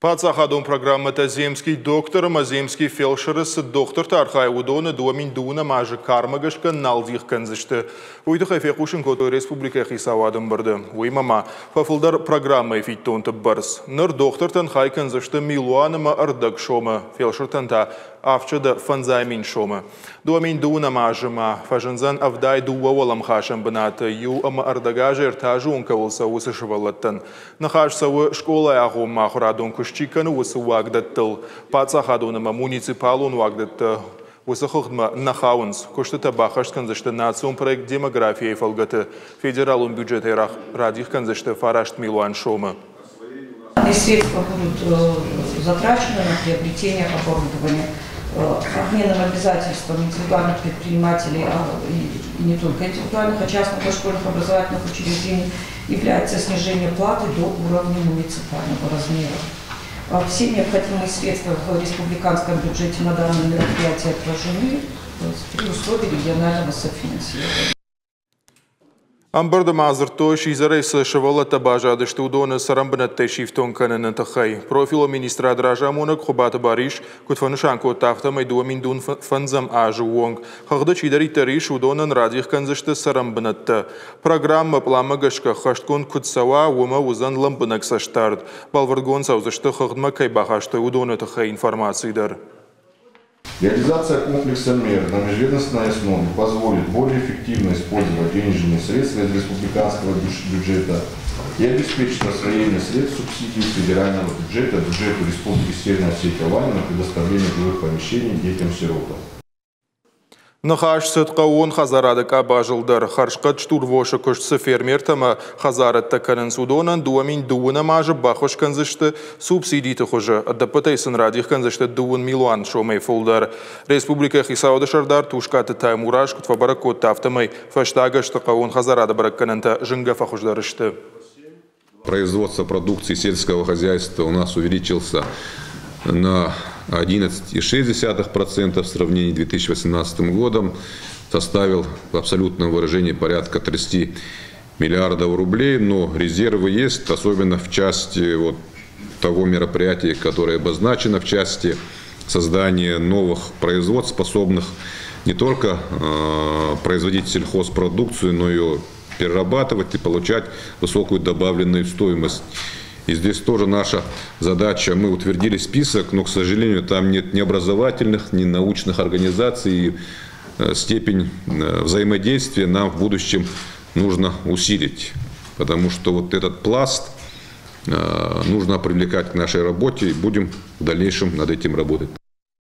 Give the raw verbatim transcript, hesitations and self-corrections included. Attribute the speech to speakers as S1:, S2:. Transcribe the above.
S1: Паддзахадон программӕтӕ «Земский доктор» ӕмӕ «Земский фелшер»-ы цы дохтыртӕ архайы, уыдоны дыууӕ мин дыууынӕм азы кармӕ гӕсгӕ нал дих кӕндзысты. Уый тыххӕй фехъусын кодтой республикӕйы хицауады ӕмбырды. Уыимӕ ма фӕфылдӕр программӕйы фиддонты бӕрц. Ныр дохтыртӕн хай кӕндзысты милуан ӕмӕ ӕрдӕг сомы, фелшыртӕн та авдсӕдӕ фӕндзай мин сомы. Дыууӕ мин дыууынӕм азы ма фӕзындзӕн ӕвдай дыууӕ уӕлӕмхасӕн бынаты, иу ӕмӕ ӕрдӕг азы ӕртӕ азы онг кӕуыл цӕуы, уыцы сывӕллӕттӕн. Ныхас цӕуы скъолайы агъоммӕ ахуырадон куыст чи кӕны, уыцы уагдӕттыл. Паддзахадон ӕмӕ муниципалон уагдӕттӕ уыцы хыгъдмӕ нӕ хауынц. Куыстытӕ баххӕст кӕндзысты национ проект «Демография»-йы фӕлгӕты. Федералон бюджетӕй радих кӕндзысты фараст милуан сомы.
S2: Средства будут затрачены на приобретение оборудования. Обменом обязательством индивидуальных предпринимателей, и не только индивидуальных, а частных дошкольных образовательных учреждений является снижение платы до уровня муниципального размера. Все необходимые средства в республиканском бюджете на данное мероприятие отражены при условии регионального софинансирования.
S1: Ӕмбырды ма дзырдтой, сидзӕрӕй цы сывӕллӕттӕ баззадысты, уыдоны цӕрӕнбынӕттӕй сифтонг кӕныны тыххӕй. Профилон министрады разамонӕг Хуыбаты Барис куыд фӕнысан кодта, афтӕмӕй дыууӕ мин дыууын фӕндзӕм азы онг хыгъды чидӕриддӕр ис, уыдонӕн радих кӕндзысты цӕрӕнбынӕттӕ. Программӕ пъланмӕ гӕсгӕ ӕххӕстгонд куыд цӕуа, уымӕ уыдзӕн лӕмбынӕг цӕстдард. Бӕлвырдгонд цӕудзысты, хыгъдмӕ кӕй бахастой, уыдоны тыххӕй информаци дӕр.
S3: Реализация комплекса мер на межведомственной основе позволит более эффективно использовать денежные средства из республиканского бюджета и обеспечит освоение средств субсидий федерального бюджета бюджету Республики Северная Осетия-Алания на предоставление жилых помещений детям-сиротам.
S1: Ныхас цыд хъӕууон хӕдзарады къабазыл дӕр. Хӕрзхъӕд стурвосы куыст цы фермертӕ ӕмӕ хӕдзарӕдтӕ кӕнынц, уыдонӕн дыууӕ мин дыууынӕм азы баххуыс кӕндзысты субсидиты хуызы. Ӕдӕппӕтӕй сын радих кӕндзысты дыууын милуан сомӕй фылдӕр. Республикӕйы хицауады сӕрдар Тускъаты Таймураз куыд фӕбӕрӕг кодта, афтӕмӕй фӕстаг ӕзты хъӕууон хӕдзарады бӕрӕггӕнӕнтӕ зынгӕ фӕхуыздӕр сты.
S4: Производство продукции сельского хозяйства у нас увеличился на одиннадцать и шесть десятых процента в сравнении с две тысячи восемнадцатым годом, составил в абсолютном выражении порядка тридцати миллиардов рублей, но резервы есть, особенно в части вот того мероприятия, которое обозначено, в части создания новых производств, способных не только, э, производить сельхозпродукцию, но и перерабатывать и получать высокую добавленную стоимость. И здесь тоже наша задача, мы утвердили список, но, к сожалению, там нет ни образовательных, ни научных организаций. И, э, степень, э, взаимодействия нам в будущем нужно усилить, потому что вот этот пласт, э, нужно привлекать к нашей работе, и будем в дальнейшем над этим работать.